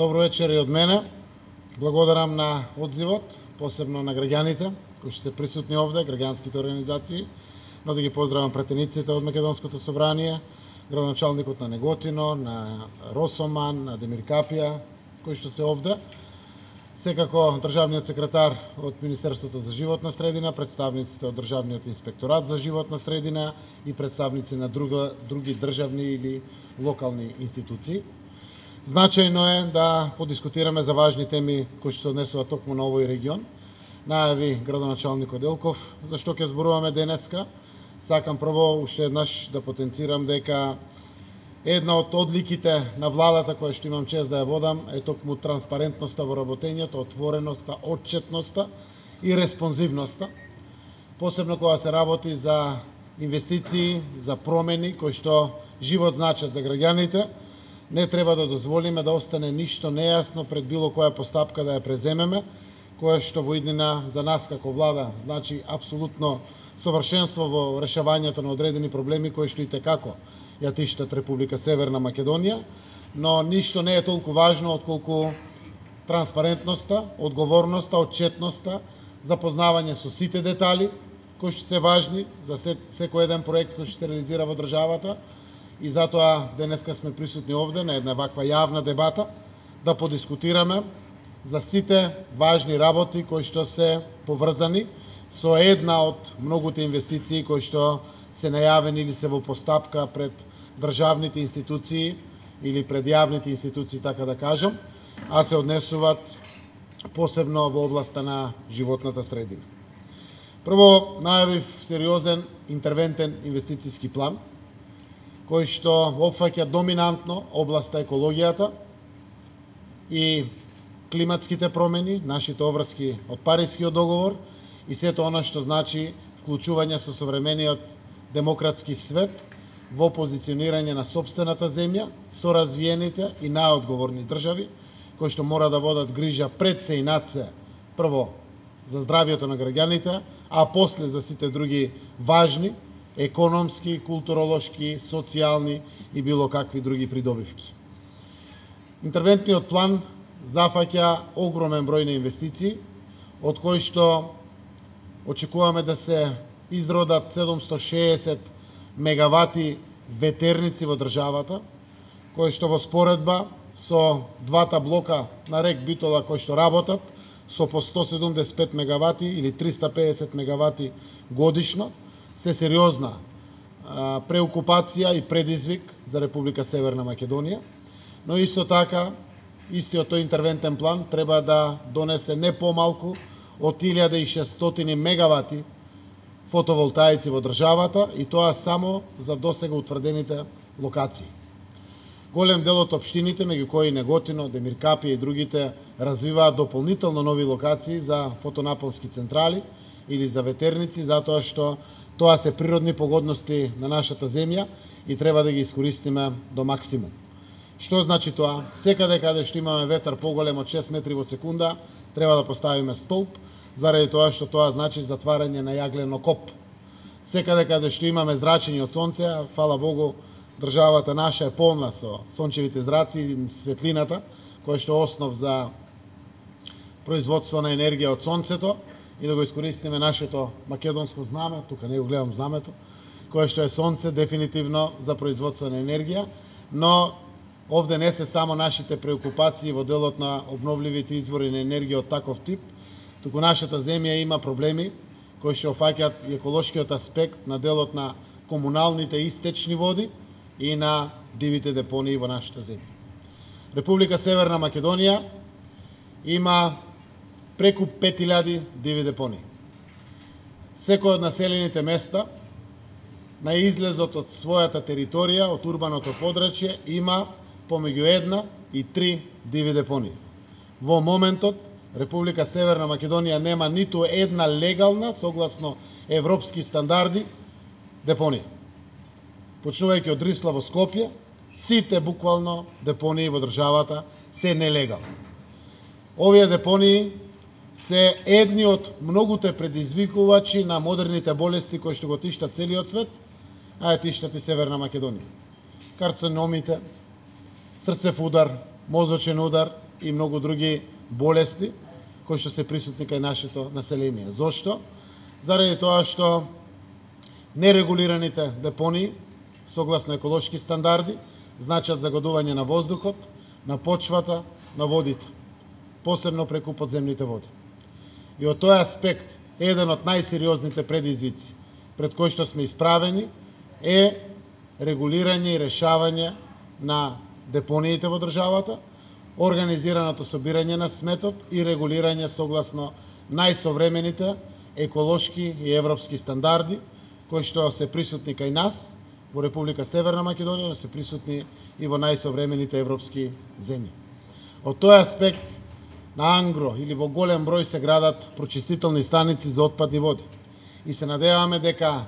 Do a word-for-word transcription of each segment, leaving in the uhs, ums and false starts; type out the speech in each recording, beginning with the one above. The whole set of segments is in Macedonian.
Добро вечер и од мене. Благодарам на одзивот, посебно на граѓаните кои што се присутни овде, граѓанските организации, но да ги поздравам пратениците од Македонското собрание, градоначалникот на Неготино, на Росоман, на Демир Капија, кои што се овде. Секако државниот секретар од Министерството за животна средина, представниците од Државниот инспекторат за животна средина и представници на друга, други државни или локални институции. Значајно е да подискутираме за важни теми кои што се однесуваат токму на овој регион. Најави градоначалникот Делков зашто ќе зборуваме денеска. Сакам прво уште еднаш да потенцирам дека една од одликите на владата која што имам чест да ја водам е токму транспарентноста во работењето, отвореноста, отчетноста и респонзивноста. Посебно кога се работи за инвестиции, за промени кои што живот значат за граѓаните, не треба да дозволиме да остане ништо нејасно пред било која постапка да ја преземеме, која што во иднина за нас како влада значи апсолутно совршенство во решавањето на одредени проблеми кои што и текако ја тиштат Република Северна Македонија, но ништо не е толку важно отколку транспарентноста, одговорноста, отчетноста, запознавање со сите детали кои што се важни за секој еден проект кој што се реализира во државата. И затоа денеска сме присутни овде на една ваква јавна дебата да подискутираме за сите важни работи кои што се поврзани со една од многуте инвестиции кои што се најавени или се во постапка пред државните институции или пред јавните институции, така да кажам, а се однесуваат посебно во областа на животната средина. Прво, најавив сериозен интервентен инвестициски план, кој што опфаќа доминантно областа екологијата и климатските промени, нашите обврски од Парискиот договор и сето она што значи вклучување со современиот демократски свет во позиционирање на сопствената земја со развиените и најодговорни држави, кои што мора да водат грижа пред се и над се, прво за здравието на граѓаните, а после за сите други важни економски, културолошки, социјални и било какви други придобивки. Интервентниот план зафаќа огромен број на инвестиции, од кои што очекуваме да се изродат седумстотини и шеесет мегавати ветерници во државата, кои што во споредба со двата блока на рек Битола кои што работат со по сто седумдесет и пет мегавати или триста и педесет мегавати годишно, се сериозна а, преокупација и предизвик за Република Северна Македонија, но исто така, истиот тој интервентен план треба да донесе не помалку од илјада и шестстотини мегавати фотоволтаици во државата и тоа само за досега утврдените локации. Голем дел од општините, меѓу кои Неготино, Демир Капија и другите, развиваат дополнително нови локации за фотонапонски централи или за ветерници, затоа што тоа се природни погодности на нашата земја и треба да ги искористиме до максимум. Што значи тоа? Секаде каде што имаме ветар поголем од шест метри во секунда, треба да поставиме столб, заради тоа што тоа значи затварање на јаглено коп. Секаде каде што имаме зрачење од сонце, а фала Богу, државата наша е полна со сончевите зраци и светлината, која што е основ за производство на енергија од сонцето, и да го искористиме нашето македонско знаме, тука не го гледам знамето, кое што е сонце дефинитивно за производство на енергија, но овде не се само нашите преокупации во делот на обновливите извори на енергија од таков тип, туку нашата земја има проблеми кои што опфаќаат и еколошкиот аспект на делот на комуналните истечни води и на дивите депонии во нашата земја. Република Северна Македонија има преку пет илјади диви депонии. Секој од населените места на излезот од својата територија, од урбаното подрачје, има помеѓу една и три диви депонии. Во моментот, Република Северна Македонија нема ниту една легална, согласно европски стандарди, депонија. Почнувајќи од Рисла во Скопје, сите буквално депонии во државата се нелегални. Овие депонии се едни од многуте предизвикувачи на модерните болести кои што го тиштат целиот свет, а ја тиштат и Северна Македонија. Карциномите, срцев удар, мозочен удар, и многу други болести кои што се присутни кај нашето население. Зошто? Заради тоа што нерегулираните депонии, согласно еколошки стандарди, значат загадување на воздухот, на почвата, на водите, посебно преку подземните води. И од тој аспект, еден од најсериозните предизвици пред кои што сме исправени е регулирање и решавање на депониите во државата, организираното собирање на сметот и регулирање согласно најсовремените еколошки и европски стандарди кои што се присутни кај нас во Република Северна Македонија, но се присутни и во најсовремените европски земји. Од тој аспект на ангро или во голем број се градат прочистителни станици за отпадни води. И се надеваме дека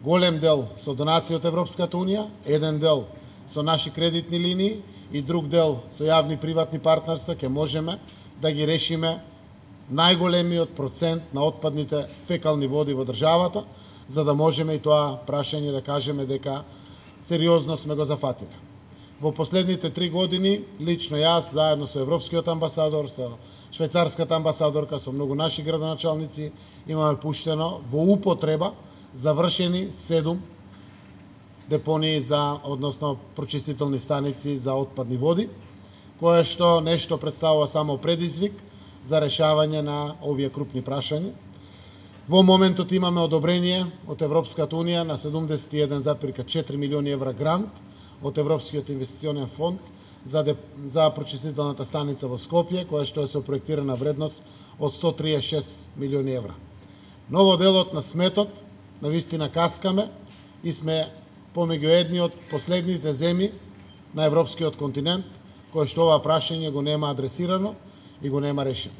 голем дел со донации од Европската Унија, еден дел со наши кредитни линии и друг дел со јавни приватни партнерства ќе можеме да ги решиме најголемиот процент на отпадните фекални води во државата, за да можеме и тоа прашање да кажеме дека сериозно сме го зафатиле. Во последните три години, лично јас, заедно со Европскиот амбасадор, со швајцарската амбасадорка, со многу наши градоначалници, имаме пуштено во употреба завршени седум депонии за, односно прочистителни станици за отпадни води, кое што нешто представува само предизвик за решавање на овие крупни прашања. Во моментот имаме одобрение од Европската Унија на седумдесет и еден зарез четири милиони евра грант од Европскиот инвестиционен фонд за, деп... за прочистителната станица во Скопје, која што е со проектирана вредност од сто триесет и шест милиони евра. Но во делот на сметот, навистина каскаме и сме помеѓу едни од последните земји на европскиот континент кој што ова прашање го нема адресирано и го нема решено.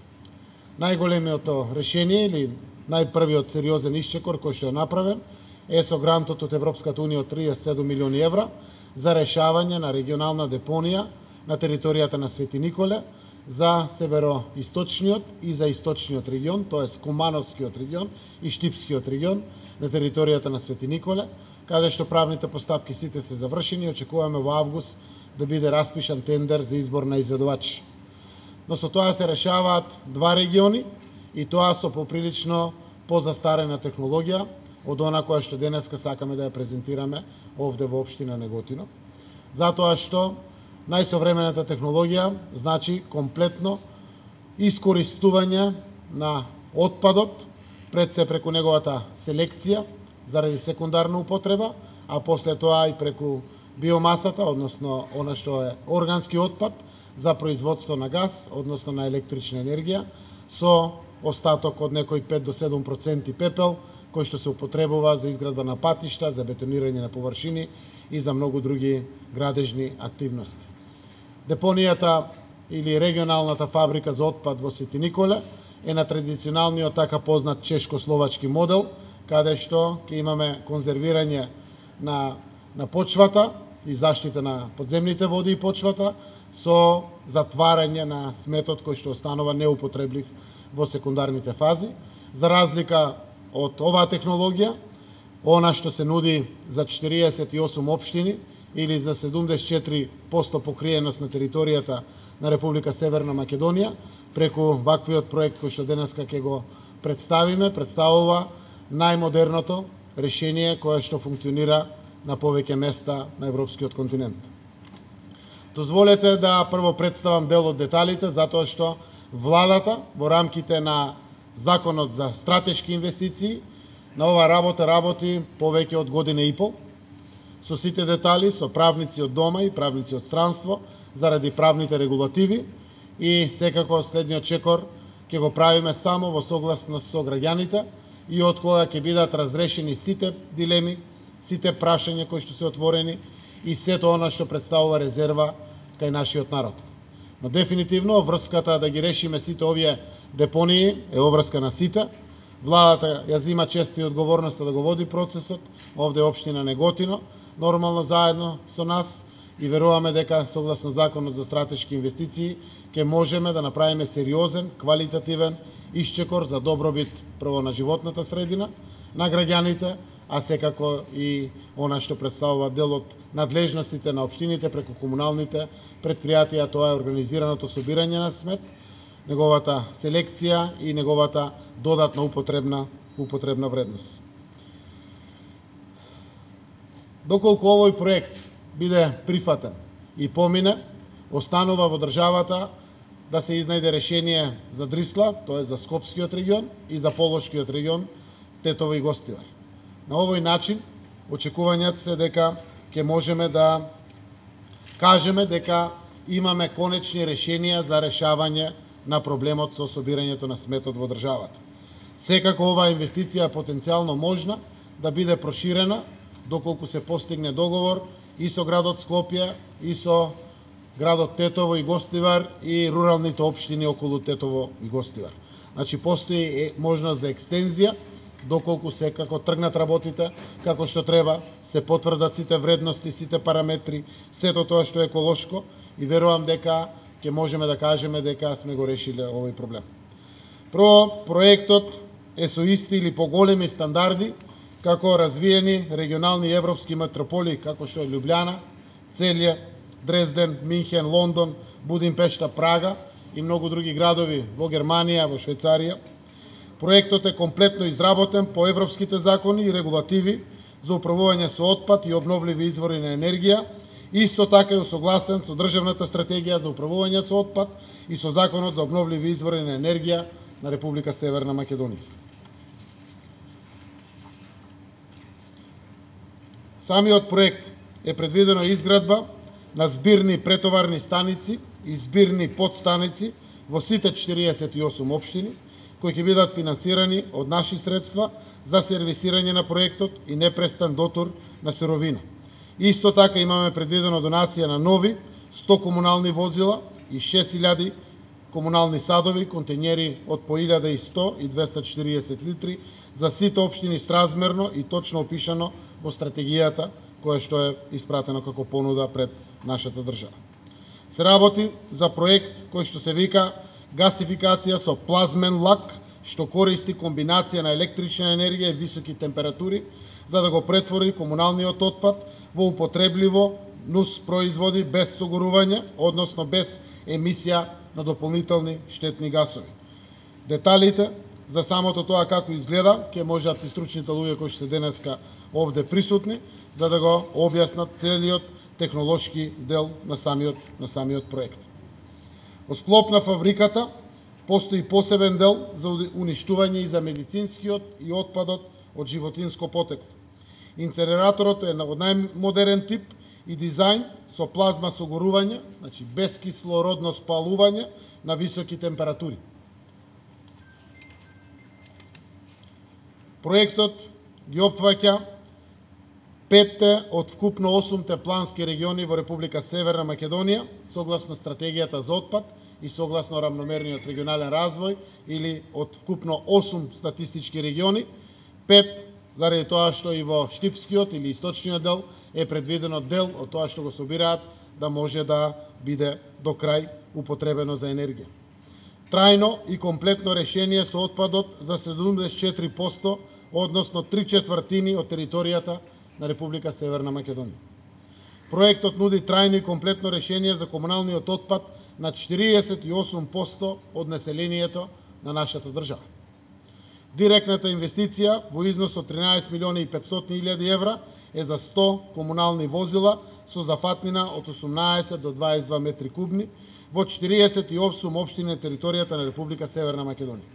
Најголемиото решение или најпрвиот сериозен исчекор кој што е направен е со грантот од Европската Унија од триесет и седум милиони евра за решавање на регионална депонија на територијата на Свети Николе за североисточниот и за источниот регион, тоест Кумановскиот регион и Штипскиот регион на територијата на Свети Николе, каде што правните постапки сите се завршени и очекуваме во август да биде распишан тендер за избор на изведувач. Но со тоа се решаваат два региони и тоа со поприлично позастарена технологија од она која што денеска сакаме да ја презентираме овде во општина Неготино. Затоа што најсовремената технологија значи комплетно искористување на отпадот, пред се преку неговата селекција заради секундарна употреба, а после тоа и преку биомасата, односно она што е органски отпад за производство на газ, односно на електрична енергија, со остаток од некои пет до седум проценти пепел, кој што се употребува за изградба на патишта, за бетонирање на површини и за многу други градежни активности. Депонијата или регионалната фабрика за отпад во Свети Николе е на традиционалниот така познат чешко-словачки модел, каде што ќе имаме конзервирање на, на почвата и заштита на подземните води и почвата со затварање на сметот кој што останува неупотреблив во секундарните фази. За разлика од оваа технологија, она што се нуди за четириесет и осум општини или за седумдесет и четири проценти покриеност на територијата на Република Северна Македонија, преку ваквиот проект кој што денеска ќе го представиме, представува најмодерното решение кое што функционира на повеќе места на европскиот континент. Дозволете да прво представам дел од деталите, затоа што владата во рамките на Законот за стратешки инвестиции на оваа работа работи повеќе од година и пол, со сите детали, со правници од дома и правници од странство, заради правните регулативи, и секако следниот чекор ќе го правиме само во согласност со граѓаните и од кога ќе бидат разрешени сите дилеми, сите прашања кои што се отворени и сето она што представува резерва кај нашиот народ. Но дефинитивно врската да ги решиме сите овие депонии е обврска на сите. Владата ја зима честа и одговорноста да го води процесот, овде општина Неготино, нормално заедно со нас, и веруваме дека согласно Законот за стратешки инвестиции ќе можеме да направиме сериозен, квалитативен исчекор за добробит прво на животната средина, на граѓаните, а секако и она што представува дел од надлежностите на општините преку комуналните предпријатија, тоа е организираното собирање на смет, неговата селекција и неговата додатна употребна употребна вредност. Доколку овој проект биде прифатен и помине, останува во државата да се изнајде решение за Дрисла, тоа е за Скопскиот регион и за Полошкиот регион, Тетово и Гостивар. На овој начин, очекувањата се дека ќе можеме да кажеме дека имаме конечни решенија за решавање на проблемот со собирањето на сметот во државата. Секако оваа инвестиција е потенцијално можна да биде проширена доколку се постигне договор и со градот Скопје, и со градот Тетово и Гостивар и руралните општини околу Тетово и Гостивар. Значи, постои можност за екстензија, доколку секако тргнат работите како што треба, се потврдат сите вредности, сите параметри, сето тоа што е еколошко, и верувам дека ќе можеме да кажеме дека сме го решиле овој проблем. Прво, проектот е со исти или поголеми стандарди како развиени регионални европски метрополии како што е Лјубљана, Целје, Дрезден, Минхен, Лондон, Будимпешта, Прага и многу други градови во Германија, во Швајцарија. Проектот е комплетно изработен по европските закони и регулативи за управување со отпад и обновливи извори на енергија. Исто така е усогласен со државната стратегија за управување со отпад и со законот за обновливи извори на енергија на Република Северна Македонија. Самиот проект е предвидено изградба на збирни претоварни станици и збирни подстаници во сите четириесет и осум општини, кои ќе бидат финансирани од наши средства за сервисирање на проектот и непрестан дотур на суровина. Исто така имаме предвидено донација на нови сто комунални возила и шест илјади комунални садови, контењери од по илјада и сто и двесте и четириесет литри за сите општини сразмерно и точно опишано во стратегијата која што е испратено како понуда пред нашата држава. Се работи за проект кој што се вика гасификација со плазмен лак, што користи комбинација на електрична енергија и високи температури за да го претвори комуналниот отпад во употребливо нус производи без согорување, односно без емисија на дополнителни штетни гасови. Деталите за самото тоа како изгледа ќе можат и стручните луѓе кои што се денеска овде присутни за да го објаснат целиот технолошки дел на самиот на самиот проект. Во склоп на фабриката постои посебен дел за уништување и за медицинскиот и отпадот од животинско потекло. Инценераторот е од најмодерен тип и дизајн со плазма согорување, значи без кислородно спалување на високи температури. Проектот ги опфаќа петте од вкупно осумте плански региони во Република Северна Македонија, согласно стратегијата за отпад и согласно рамномерниот регионален развој, или од вкупно осум статистички региони, пет заради тоа што и во Штипскиот или источниот дел е предвидено дел од тоа што го собираат да може да биде до крај употребено за енергија. Трајно и комплетно решение со отпадот за седумдесет и четири проценти, односно три четвртини од територијата на Република Северна Македонија. Проектот нуди трајно и комплетно решение за комуналниот отпад на четириесет и осум проценти од населението на нашата држава. Директната инвестиција во износ од тринаесет милиони и петстотини илјади евра е за сто комунални возила со зафатнина од осумнаесет до дваесет и два метри кубни во четириесет и осум општини на територијата на Република Северна Македонија.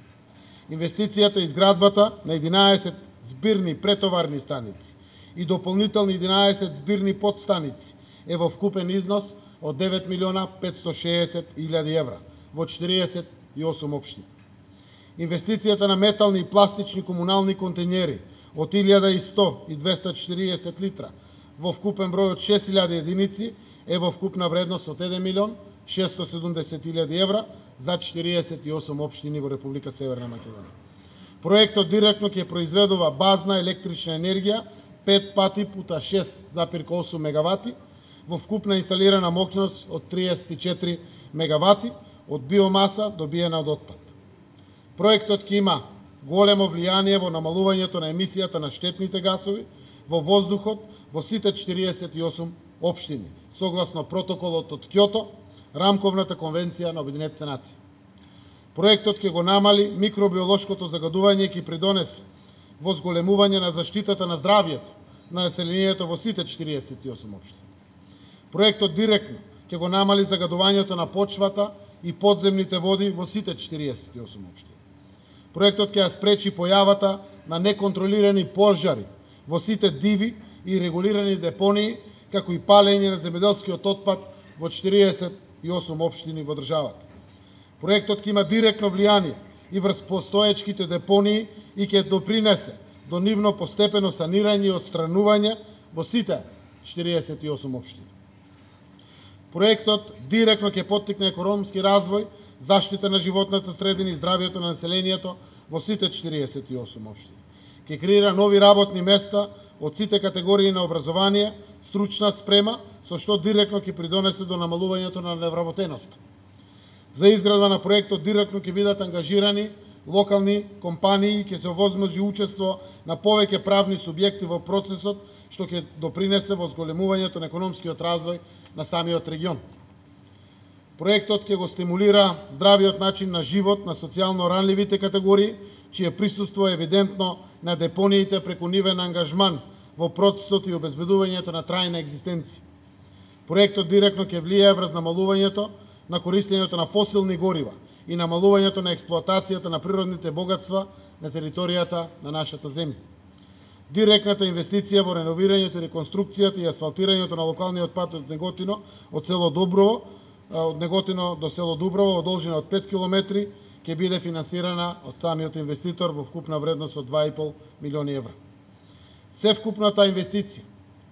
Инвестицијата и изградбата на единаесет збирни претоварни станици и дополнителни единаесет збирни подстаници е во вкупен износ од девет милиона петстотини и шеесет илјади евра во четириесет и осум општини. Инвестицијата на метални и пластични комунални контењери од илјада и сто и двесте и четириесет литра во вкупен број од шест илјади единици е во вкупна вредност од еден милион шестоста и седумдесет илјади евра за четириесет и осум општини во Република Северна Македонија. Проектот директно ќе произведува базна електрична енергија пет пати пута шест запирка осум мегавати во вкупна инсталирана моќност од триесет и четири мегавати од биомаса добиена од отпад. Проектот ќе има големо влијание во намалувањето на емисијата на штетните гасови во воздухот во сите четириесет и осум општини, согласно протоколот од Кјото, Рамковната конвенција на Обединетите нации. Проектот ќе го намали микробиолошкото загадување и ќе придонесе во зголемување на заштитата на здравјето на населението во сите четириесет и осум општини. Проектот директно ќе го намали загадувањето на почвата и подземните води во сите четириесет и осум општини. Проектот ќе ја спречи појавата на неконтролирани пожари во сите диви и регулирани депонии, како и палење на земјоделскиот отпад во четириесет и осум општини во државата. Проектот ќе има директно влијание и врз постоечките депонии и ќе допринесе до нивно постепено санирање и отстранување во сите четириесет и осум општини. Проектот директно ќе поттикне економски развој, заштита на животната средина и здравјето на населението во сите четириесет и осум општини. Ќе креира нови работни места од сите категории на образование, стручна спрема, со што директно ќе придонесе до намалувањето на невработеноста. За изградба на проектот директно ќе бидат ангажирани локални компании и ќе се овозможи учество на повеќе правни субјекти во процесот, што ќе допринесе во зголемувањето на економскиот развој на самиот регион. Проектот ќе го стимулира здравиот начин на живот на социјално ранливите категории, чие присуство е евидентно на депониите преку нивен ангажман во процесот и обезбедувањето на трајна екзистенција. Проектот директно ќе влијае врз намалувањето на користењето на фосилни горива и намалувањето на експлоатацијата на природните богатства на територијата на нашата земја. Директната инвестиција во реновирањето и реконструкцијата и асфалтирањето на локалниот пат од Неготино од село Дуброво, од Неготино до село Дуброво во должина од пет километри ќе биде финансирана од самиот инвеститор во вкупна вредност од два и пол милиони евра. Севкупната инвестиција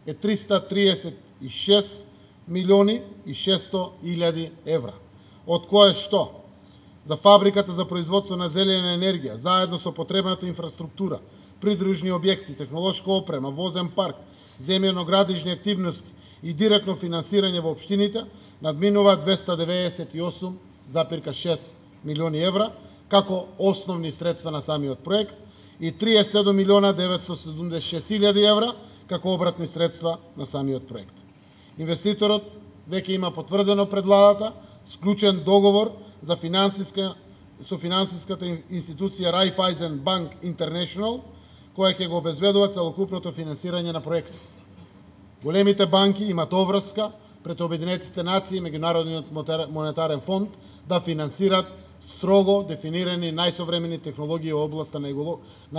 е триста триесет и шест милиони и шесто илјади евра, од кое што за фабриката за производство на зелена енергија, заедно со потребната инфраструктура, придружни објекти, технолошка опрема, возен парк, земјано-градижни активности и директно финансирање во општините, надминува двеста деветдесет и осум запирка шест милиони евра, како основни средства на самиот проект, и триесет и седум милиона деветстотини седумдесет и шест илјади евра, како обратни средства на самиот проект. Инвеститорот веќе има потврдено пред владата склучен договор за финансиска со финансиската институција Raiffeisen Bank International, која ќе го обезбедува целокупното финансирање на проектот. Големите банки имат обврска пред Обединетите нации и Меѓународниот монетарен фонд да финансират строго дефинирани најсовремени технологии во областа на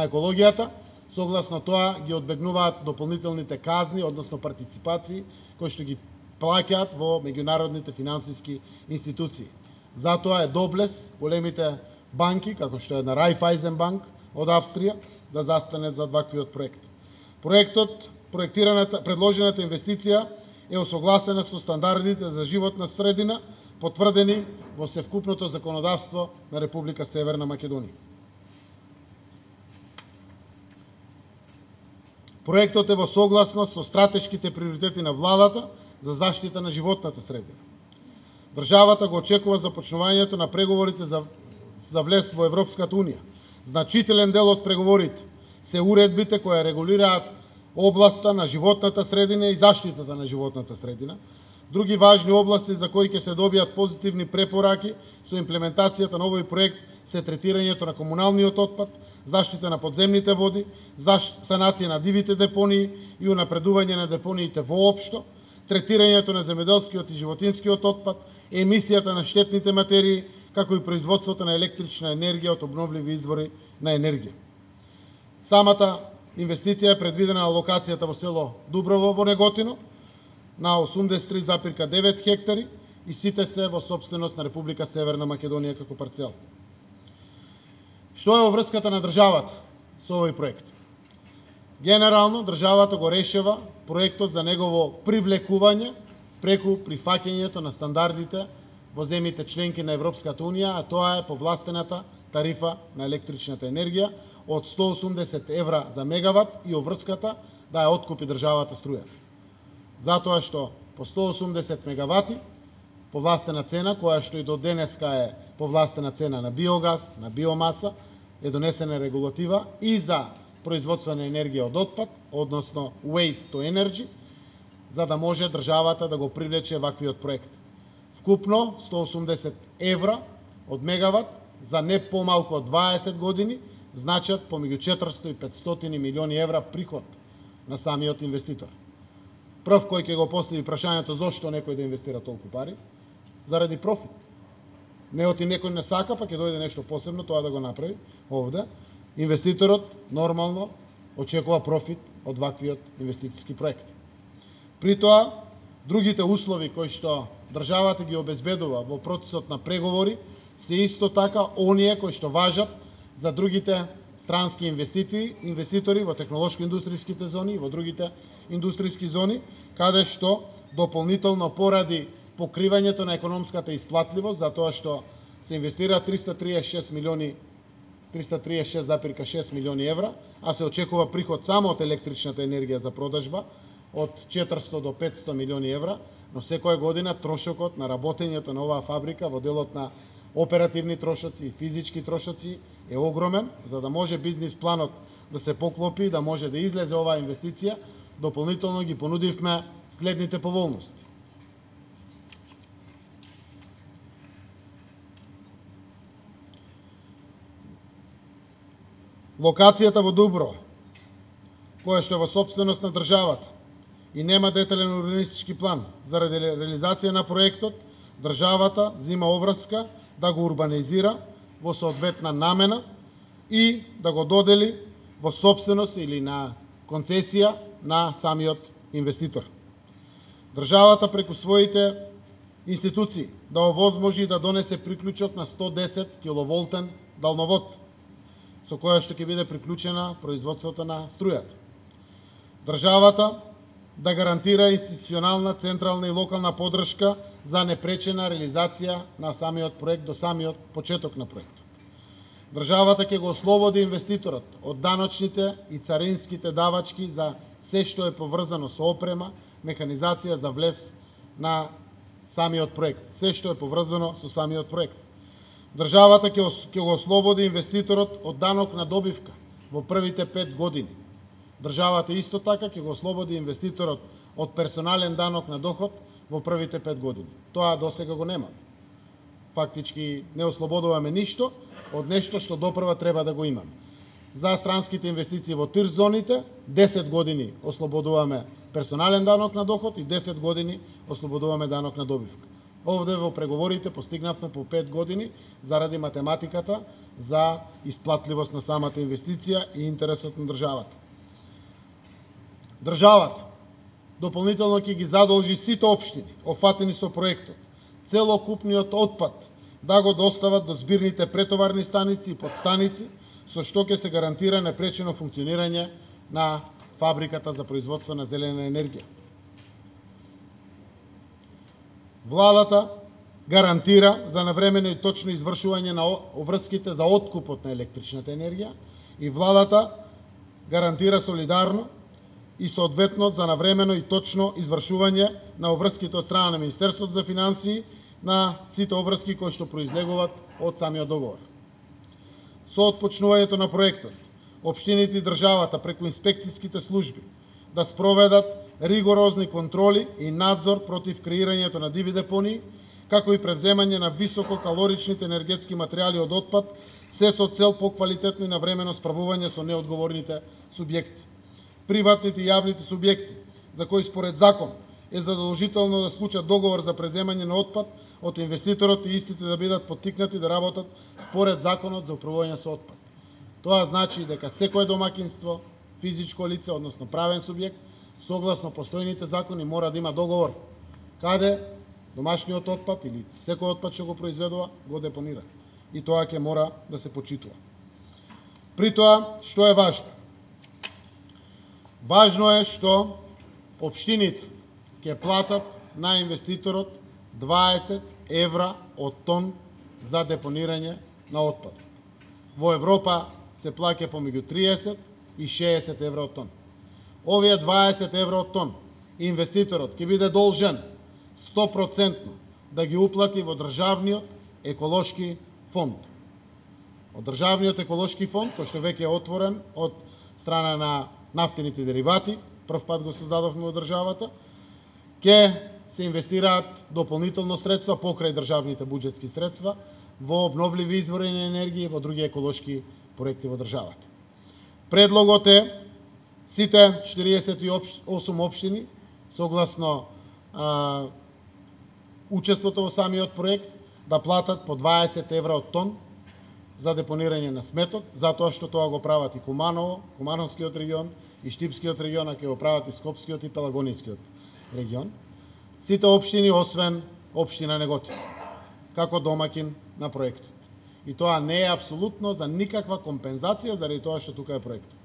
екологијата, согласно тоа ги одбегнуваат дополнителните казни, односно партиципации, кои што ги плаќаат во меѓународните финансиски институции. Затоа е доблес големите банки, како што е на Raiffeisen Bank од Австрија, да застане за ваквиот проект. Проектот, проектираната, предложената инвестиција е осогласена со стандардите за животна средина, потврдени во севкупното законодавство на Република Северна Македонија. Проектот е во согласност со стратешките приоритети на владата за заштита на животната средина. Државата го очекува започнувањето на преговорите за, за влез во Европската Унија. Значителен дел од преговорите се уредбите кои регулираат областа на животната средина и заштитата на животната средина. Други важни области за кои ќе се добијат позитивни препораки со имплементацијата на овој проект се третирањето на комуналниот отпад, заштита на подземните води, санација на дивите депонии и унапредување на депониите воопшто, третирањето на земјоделскиот и животинскиот отпад, емисијата на штетните материи, како и производството на електрична енергија од обновливи извори на енергија. Самата инвестиција е предвидена на локацијата во село Дуброво во Неготино, на осумдесет и три запирка девет хектари и сите се во сопственост на Република Северна Македонија како парцел. Што е обврската на државата со овој проект? Генерално, државата го решава проектот за негово привлекување преку прифаќањето на стандардите во земјите членки на Европската Унија, а тоа е повластената тарифа на електричната енергија од сто и осумдесет евра за мегават и обврската да ја откупи државата струјата. Затоа што по сто и осумдесет мегавати повластена цена, која што и до денеска е повластена цена на биогаз, на биомаса, е донесена регулатива и за производство на енергија од отпад, односно waste to energy, за да може државата да го привлече ваквиот проект. Вкупно сто осумдесет евра од мегават за не помалку од дваесет години значат помеѓу четиристотини и петстотини милиони евра приход на самиот инвеститор. Прв кој ќе го постави прашањето зошто некој да инвестира толку пари? Заради профит. Не оти некој не сака, па ќе дојде нешто посебно тоа да го направи овде. Инвеститорот нормално очекува профит од ваквиот инвестициски проект. При тоа, другите услови кои што државата ги обезбедува во процесот на преговори се исто така оние кои што важат за другите странски инвеститори, инвеститори во технолошко-индустријските зони и во другите индустријски зони, каде што дополнително поради покривањето на економската исплатливост, затоа што се инвестира триста триесет и шест милиони триста триесет и шест зарез и шест милиони евра, а се очекува приход само од електричната енергија за продажба од четиристотини до петстотини милиони евра, но секоја година трошокот на работењето на оваа фабрика во делот на оперативни трошоци и физички трошоци е огромен, за да може бизнис планот да се поклопи, да може да излезе оваа инвестиција, дополнително ги понудивме следните поволности. Локацијата во Дуброва, која што е во собственост на државата и нема детален урбанистички план, заради реализација на проектот, државата зима обврска да го урбанизира во соодветна намена и да го додели во собственост или на концесија на самиот инвеститор. Државата преку своите институции да овозможи да донесе приклучок на сто десет киловолтен далновод, со која што ќе биде приклучена производството на струјата. Државата да гарантира институционална, централна и локална поддршка за непречена реализација на самиот проект до самиот почеток на проектот. Државата ќе го ослободи инвеститорот од даночните и царинските давачки за се што е поврзано со опрема, механизација за влез на самиот проект, се што е поврзано со самиот проект. Државата ќе го ослободи инвеститорот од данок на добивка во првите пет години. Државата исто така ќе го ослободи инвеститорот од персонален данок на доход во првите пет години. Тоа досега го нема. Фактички не ослободуваме ништо од нешто што допрва треба да го имаме. За странските инвестиции во тир зоните, десет години ослободуваме персонален данок на доход и десет години ослободуваме данок на добивка. Овде во преговорите постигнавме по пет години заради математиката за исплатливост на самата инвестиција и интересот на државата. Државата дополнително ќе ги задолжи сите општини офатени со проектот, целокупниот отпад да го достават до збирните претоварни станици и подстаници, со што ќе се гарантира непречено функционирање на фабриката за производство на зелена енергија. Владата гарантира за навремено и точно извршување на обврските за откупот на електричната енергија и владата гарантира солидарно и соодветно за навремено и точно извршување на обврските од страна на Министерството за финансии на сите обврски кои што произлегуваат од самиот договор. Со отпочнувањето на проектот, општините и државата преку инспекцијските служби да спроведат ригорозни контроли и надзор против креирањето на диви депонии, како и превземање на висококалоричните енергетски материјали од отпад, се со цел поквалитетно и навремено справување со неодговорните субјекти. Приватните и јавните субјекти, за кои според закон е задолжително да склучат договор за преземање на отпад од инвеститорот и истите да бидат поттикнати да работат според законот за управување со отпад. Тоа значи дека секое домаќинство, физичко лице, односно правен субјект, согласно постојните закони мора да има договор каде домашниот отпад или секој отпад што го произведува го депонира. И тоа ќе мора да се почитува. При тоа, што е важно? Важно е што општините ќе платат на инвеститорот дваесет евра од тон за депонирање на отпад. Во Европа се плаќа помеѓу триесет и шеесет евра од тон. Овие дваесет евра од тон инвеститорот ќе биде должен сто проценти да ги уплати во државниот еколошки фонд. од државниот еколошки фонд, кој што веќе е отворен од страна на нафтените деривати, прв пат го создадовме во државата, ќе се инвестираат дополнително средства покрај државните буџетски средства во обновливи извори на енергија и во други еколошки проекти во државата. Предлогот е сите четириесет и осум општини согласно а, учеството во самиот проект да платат по дваесет евра од тон за депонирање на сметот, затоа што тоа го прават и Куманово, Кумановскиот регион, и Штипскиот регион, а ќе го прават и Скопскиот и Пелагонискиот регион. Сите општини, освен општина Неготино, како домакин на проектот. И тоа не е апсолутно за никаква компензација заради тоа што тука е проектот.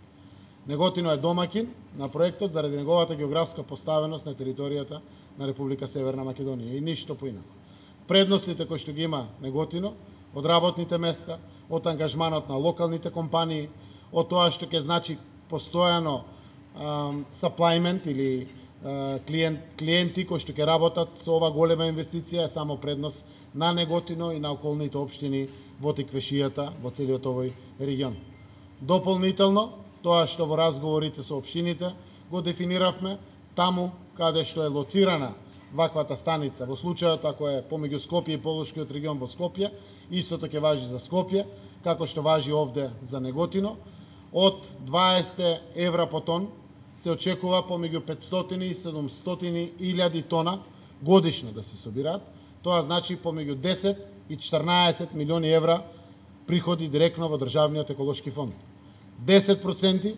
Неготино е домакин на проектот заради неговата географска поставеност на територијата на Република Северна Македонија и ништо поинако. Предностите кои што ги има Неготино, од работните места, од ангажманот на локалните компании, од тоа што ќе значи постојано саплајмент или а, клиент, клиенти кои што ќе работат со ова голема инвестиција е само предност на Неготино и на околните општини во Тиквешијата, во целиот овој регион. Дополнително, тоа што во разговорите со општините го дефиниравме, таму каде што е лоцирана ваквата станица, во случајот ако е помеѓу Скопје и Полошкиот регион во Скопје, истото ќе важи за Скопје, како што важи овде за Неготино, од дваесет евра по тон се очекува помеѓу петстотини и седумстотини илјади тона годишно да се собираат. Тоа значи помеѓу десет и четрнаесет милиони евра приходи директно во државниот еколошки фонд. десет проценти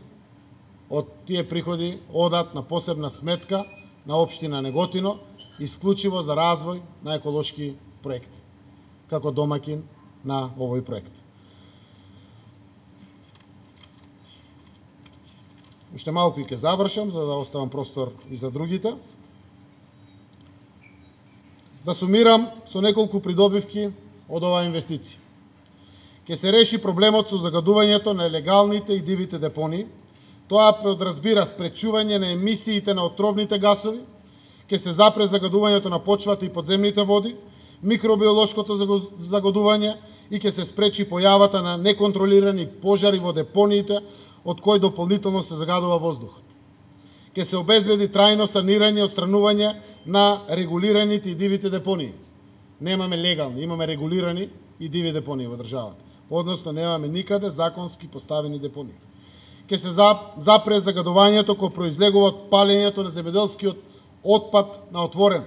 од тие приходи одат на посебна сметка на општина Неготино, исклучиво за развој на еколошки проекти, како домакин на овој проект. Уште малку и ќе завршам, за да оставам простор и за другите. Да сумирам со неколку придобивки од оваа инвестиција. Ке се реши проблемот со загадувањето на легалните и дивите депонии. Тоа подразбира спречување на емисиите на отровните гасови, ке се запре загадувањето на почвата и подземните води, микробиолошкото загадување и ке се спречи појавата на неконтролирани пожари во депониите, од кои дополнително се загадува воздухот. Ке се обезбеди трајно санирање и отстранување на регулираните и дивите депонии. Немаме легални, имаме регулирани и диви депонии во државата. Односно, немаме никаде законски поставени депонии. Ке се запре загадувањето кој произлегува од палењето на земјоделскиот отпад на отворен.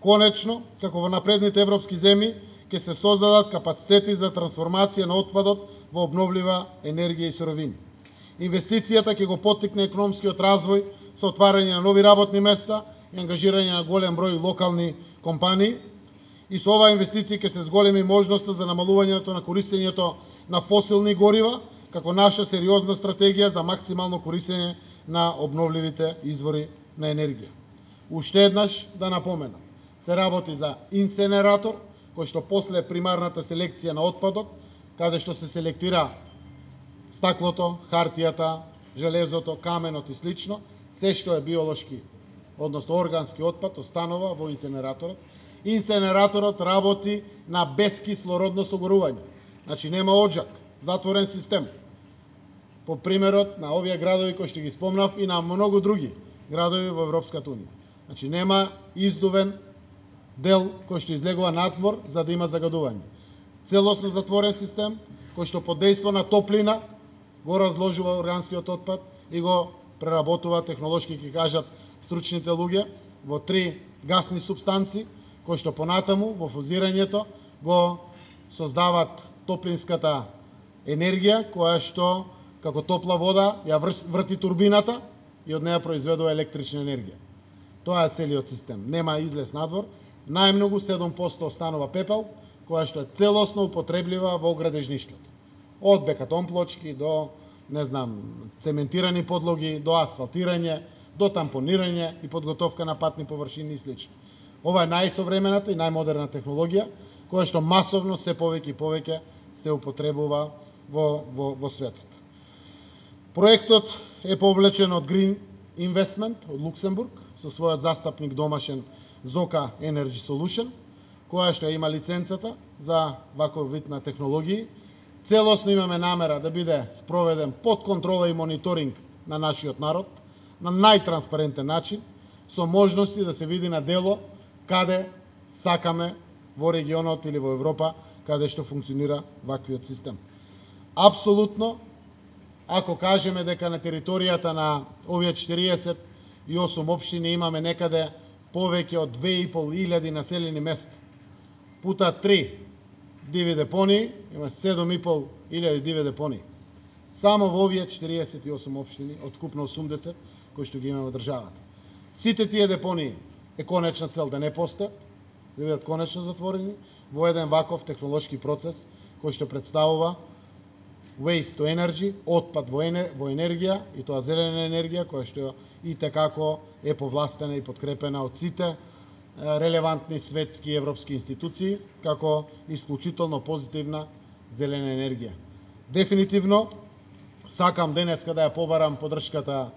Конечно, како во напредните европски земји, ке се создадат капацитети за трансформација на отпадот во обновлива енергија и суровини. Инвестицијата ќе го поттикне економскиот развој со отварање на нови работни места и ангажирање на голем број локални компании. И со оваа инвестиција ќе се зголеми можноста за намалувањето на користењето на фосилни горива, како наша сериозна стратегија за максимално користење на обновливите извори на енергија. Уште еднаш да напоменам, се работи за инсенератор, кој што после примарната селекција на отпадот, каде што се селектира стаклото, хартијата, железото, каменот и слично, се што е биолошки, односно органски отпад, останува во инсенераторот. Инсенераторот работи на безкислородно согорување. Значи нема оджак, затворен систем. По примерот на овие градови кои што ги спомнав и на многу други градови во Европската унија. Значи нема издувен дел кој што излегува надвор за да има загадување. Целосно затворен систем кој што под дејство на топлина го разложува органскиот отпад и го преработува технолошки, ќе кажат стручните луѓе, во три гасни супстанци кои што понатаму во фузирањето го создават топлинската енергија која што како топла вода ја врти турбината и од неја произведува електрична енергија. Тоа е целиот систем. Нема излез надвор. Најмногу седум проценти останува пепел, која што е целосно употреблива во градежништвото. Од бекатон плочки до, не знам, цементирани подлоги, до асфалтирање, до тампонирање и подготовка на патни површини и слично. Ова е најсовремената и најмодерна технологија, која што масовно се повеќе и повеќе се употребува во, во, во светот. Проектот е повлечен од Green Investment од Луксембург со својот застапник домашен Zoka Energy Solution, која што има лиценцата за ваков вид на технологии. Целосно имаме намера да биде спроведен под контрола и мониторинг на нашиот народ, на најтранспарентен начин, со можности да се види на дело каде сакаме во регионот или во Европа, каде што функционира ваквиот систем. Апсолутно, ако кажеме дека на територијата на овие четириесет и осум општини имаме некаде повеќе од две и пол илјади населени места, пута три диви депонии, има седум и пол илјади диви депонии. Само во овие четириесет и осум општини, од вкупно осумдесет, кои што ги имаме во државата. Сите тие депонии е конечна цел да не постојат, да бидат конечно затворени во еден ваков технолошки процес кој што представува waste to energy, отпад во, енер, во енергија, и тоа зелена енергија, која што и текако е повластена и подкрепена од сите релевантни светски и европски институции, како исклучително позитивна зелена енергија. Дефинитивно, сакам денеска да ја побарам поддршката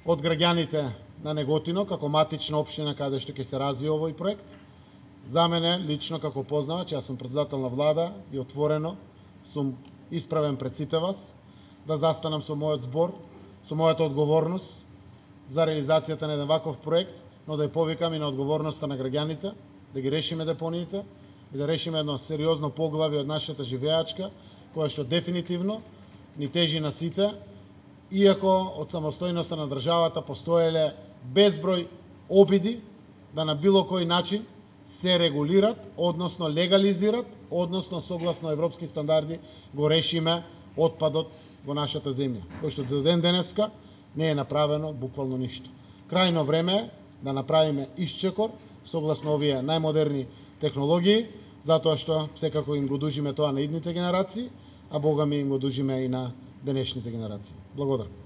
од граѓаните на Неготино, како матична општина каде што ќе се развие овој проект. За мене, лично како познавач, јас сум претседател на влада и отворено сум исправен пред сите вас да застанам со мојот збор, со мојата одговорност за реализацијата на еден ваков проект, но да ја повикам и на одговорноста на граѓаните, да ги решиме депониите и да решиме едно сериозно поглавие од нашата живеачка, која што дефинитивно ни тежи на сите, иако од самостојноста на државата постоеле безброј обиди да на било кој начин се регулират, односно легализират, односно согласно европски стандарди го решиме отпадот во нашата земја, кој што до ден денеска не е направено буквално ништо. Крајно време е да направиме исчекор согласно овие најмодерни технологии, затоа што секако им го дужиме тоа на идните генерации, а Бога ми им го дужиме и на денешните генерации. Благодарам.